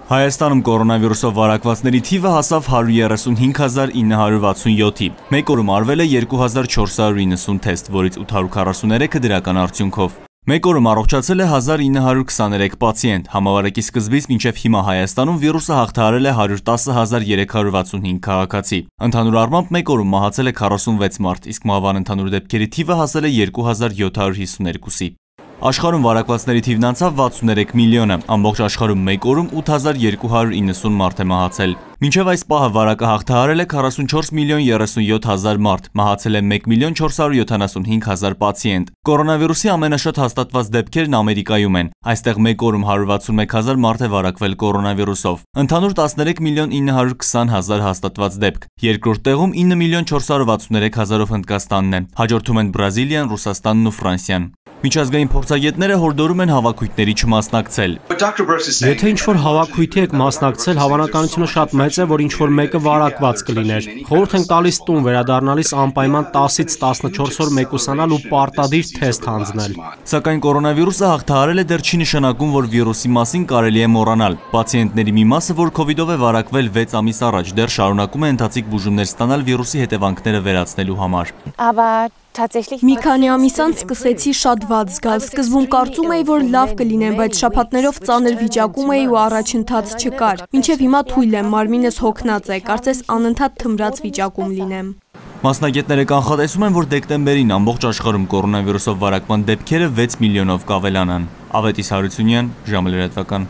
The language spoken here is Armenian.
Հայաստանում կորոնավիրուսով վարակվածների թիվը հասավ 135,967-ի։ Մեկ օրում արվել է 2490 թեստ, որից 843-ը դրական արդյունքով։ Մեկ օրում առողջացել է 1923 պացիենտ։ Համավարակի սկզբից մինչև հիմա Հայաստանում վիրուսը հաղթահարել է 110,365 քաղաքացի։ Ընդհանուր առմամբ մեկ օրում մահացել է 46 մարդ, իսկ մահվան ընդհանուր դեպքերի թիվը հասել է 2752-ի։ Աշխարհում վարակվածների թիվն անցավ 63 միլիոնը, ամբողջ աշխարհում մեկ օրում 8290 մարդ է մահացել։ Մինչև այս պահը վարակը հաղթահարել է 44,37,000 մարդ, մահացել է 1,475,000 պացիենտ։ Կորոնավիրուսի ամենաշատ հաստատված դեպքերն Ամերիկայում են։ Այստեղ մեկ օրում 161,000 մարդ է վարակվել կորոնավիրուսով։ Ընդհանուր 13,920,000 հաստատված դեպք։ Երկրորդ տեղում 9,463,000-ով Հնդկաստանն է։ Հաջորդում են Բրազիլիան, Ռուսաստանն ու Ֆրանսիան։ Միջազգային փորձագետները հորդորում են հավաքույթների չմասնակցել։ Եթե ինչ-որ հավաքույթի եք մասնակցել, հավանականությունը շատ մեծ է, որ ինչ-որ մեկը վարակված կլիներ։ Խորհուրդ ենք տալիս տուն վերադառնալիս անպայման 10-ից 14 օր մեկուսանալ ու պարտադիր թեստ հանձնել։ Սակայն կորոնավիրուսը հաղթահարել է դեռ չի նշանակում, որ վիրուսի մասին կարելի է մոռանալ։ Պացիենտների մի մասը, որ քովիդով է վարակվել 6 ամիս առաջ, դեռ շարունակում է ընթացիկ բուժումներ ստանալ վիրուսի հետևանքները վերացնելու համար։ Մի քանի ամիս անց սկսեցի շատ վատ զգալ, սկզբում կարծում էի, որ լավ կլինեմ, բայց շաբաթներով ծանր վիճակում էի ու առաջընթաց չկար։ Մինչև հիմա թույլ եմ, մարմինս հոգնած է, կարծես անընդհատ թմրած վիճակում լինեմ։ Մասնագետները կանխատեսում են, որ դեկտեմբերին ամբողջ աշխարհում կորոնավիրուսով վարակման դեպքերը 6 միլիոնով կավելանան։ Ավետիս Հարությունյան, ժամը լրատվական։